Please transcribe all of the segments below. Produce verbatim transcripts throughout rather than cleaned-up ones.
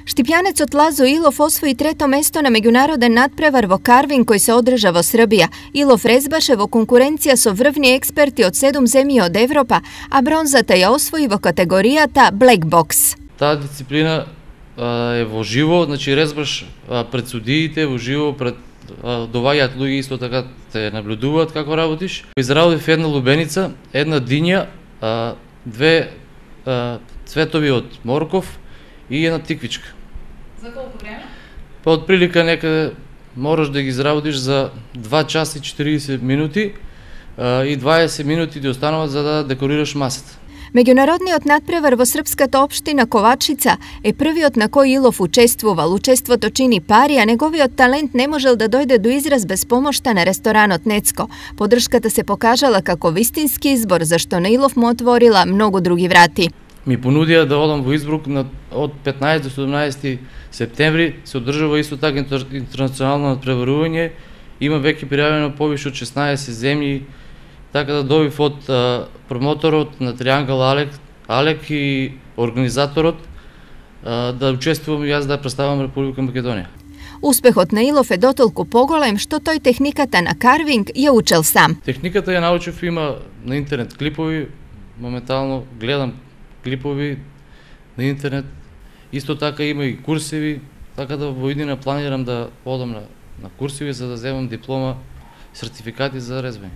Štipjanec Lazzo Ilov osvoji treto mesto na međunaroden nadprevar vo carving koji se održa vo Srbija. Ilov rezbaše vo konkurencija so vrvni eksperti od sedum zemlji od Evropa, a bronzata je osvoji vo kategorijata Black Box. Таа дисциплина а, е во живо, значи резбаш а, пред судиите, во живо пред а, доваѓаат луѓе исто така те наблюдуваат како работиш. Изработив една лубеница, една диња, а, две а, цветови од морков и една тиквичка. За колку време? Па од прилика некаде мораш да ги изработиш за два часа и четириесет минути а, и дваесет минути ти остануваат за да декорираш масата. Меѓународниот надпревар во српската општина Ковачица е првиот на кој Илов учествувал. Учеството чини пари, а неговиот талент не можел да дојде до израз без помошта на ресторанот Нецко. Поддршката се покажала како вистински избор, зашто на Илов му отворила многу други врати. Ми понудија да одам во Избрук на, од петнаесет до седумнаесети септември, се одржува исто така интернационално надпреварување, има веќе пријавено повише од шеснаесет земји, така да добив од а, промоторот на Триангл Алек, Алек и организаторот а, да учествувам и јас да представам Република Македонија. Успехот на Илов е дотолку поголем што тој техниката на карвинг ја учел сам. Техниката ја научив, има на интернет клипови, моментално гледам клипови на интернет. Исто така има и курсеви, така да во иднина планирам да одам на, на курсеви за да земам диплома, сертификати за резбање.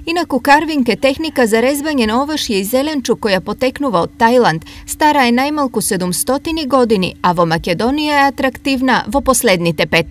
Инаку карвинг е техника за резбање на овошје и зеленчук која потекнува од Тајланд. Стара е најмалку седумстотини години, а во Македонија е атрактивна во последните пет.